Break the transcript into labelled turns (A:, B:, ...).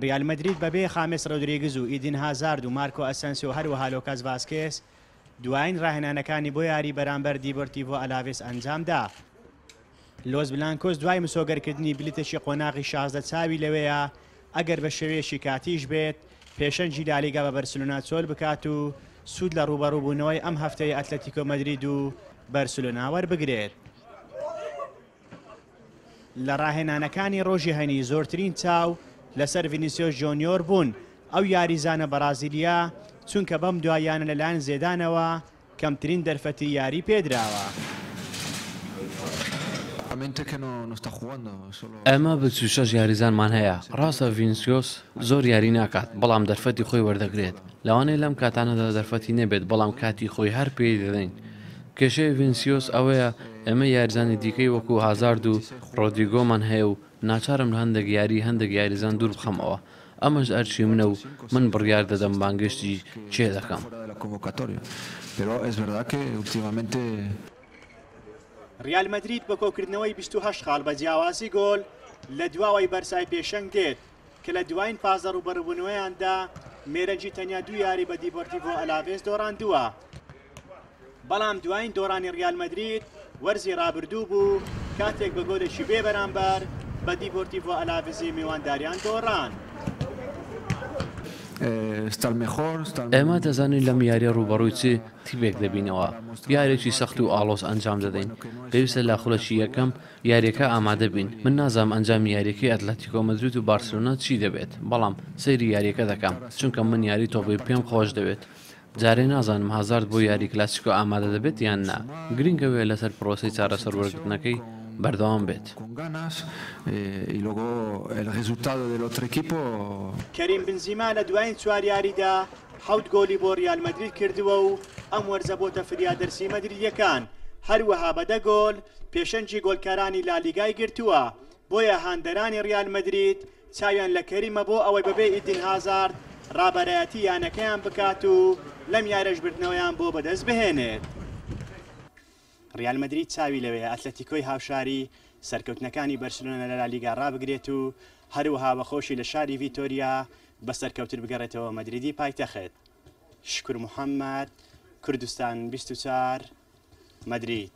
A: ریال مەدرید بەبێ خامێس رۆدریگز و ئیدین هازارد و مارکۆ ئەسەنسیۆ و هەروەها لۆکاس ڤاسکێس دوایین راهێنانەکانی بۆ یاری بەرامبەر دیبۆرتیڤۆ ئەلاڤێس ئەنجامدا. لۆس بلانکۆس دوای مسۆگەرکردنی بلیتێکی قۆناغی 16 چاوی لەوەیە ئەگەر بە شێوەیەکی کاتیش بێت پێشەنگی لالیگا بە بەرسلۆنا چۆل بکات و سوود لە رووبەڕووبوونەوەی ئەم هەفتەی ئەتلەتیکۆ مەدرید و بەرسلۆنا وەربگرێت. لە راهێنانەکانی رۆژی هەینی زۆرترین چاو لەسەر ڤینیسیۆس جۆنیۆر بوون، ئەو یاریزانە بەرازیلییە چونکە بەم دواییانە لەلایەن زێدانەوە کەمترین دەرفەتی یاری پێدراوە.
B: ئێمە 26 یاریزانمان هەیە، راستە ڤینسیۆس زۆر یاری ناکات، بەڵام دەرفەتی خۆی وەردەگرێت، لەوانەیە لەم کاتانەدا دەرفەتی نەبێت، بەڵام کاتی خۆی هەر پێی دەدەین. کێشەی ڤینسیۆس ئەوەیە ئێمە یاریزانی دیکەی وەکو هازارد و رۆدریگۆمان هەیە و ناچارم لە هەندێک یاری هەندێک یاریزان دووربخەمەوە، ئەمەش ئەرکی منە و من بڕیار دەدەم بانگێشتی کێ دەکەم.
A: ریال مەدرید بە کۆکردنەوەی 28 خاڵ بە جیاوازی گۆل لە دواوەی بەرسای پێشەنگ دێت کە لە دوایین 15 ڕووبەڕووبوونەوەیاندا مێرەنگی تەنیا دوو یاری بە دیبۆرتیڤۆ ئەلاڤێس دۆڕاندووە. بەڵام دوایین دۆڕانی ریال مەدرید وەرزی رابردوو بوو کاتێک بە گۆلێکی بێ بەرامبەر بە دیبۆرتیڤۆ ئەلاڤزی میوانداریان دۆڕان.
B: ئێمە دەزانین لەم یارییە رووبەڕووی چ تیپێک دەبینەوە، یارییەکی سەخت و ئاڵۆز ئەنجام دەدەین، پێویستە لە خولەکی یەکەم یارییەکە ئامادە بین، من نازانم ئەنجامی یارییەکەی ئەتلەتیکۆ مەدرید و بارسێلۆنا چی دەبێت، بەڵام سەیری یارییەکە دەکەم، چونکە من یاری تۆپی پێم خۆش دەوێت. جارێ نازانم هازارد بۆ یاری کلاسیکۆ ئامادە دەبێت یان نا، گرنگ ئەوەیە لەسەر پرۆسەی چارەسەر وەرگرتنەکەی بەردەوام بێت.
A: کەریم بنزیما لە دوایین چوار یاریدا حەوت گۆلی بۆ ریال مەدرید کردووە و ئەم وەرزە بۆتە فریادرسی مەدریدییەکان، هەروەها بە دە گۆل پێشەنگی گۆلکارانی لالیگای گرتووە، بۆیە هاندەرانی ریال مەدرید چاویان لە کەریمە بۆ ئەوەی بەبێ ئیدین هازارد رابەرایەتی یانەکەیان بکات و لەم یاریەش بردنەوەیان بۆ بەدەست بهێنێت. ریال مەدرید چاوی لەوەیە ئەتلەتیکۆی هاوشاری سەرکەوتنەکانی بەرشلۆنە لە لالیگا رابگرێت و هەروەها بەخۆشی لە شاری ڤیتۆریا بە سەرکەوتن بگەڕێتەوە مەدریدی پایتەخت. شکور محەمەد، کوردستان 24، مەدرید.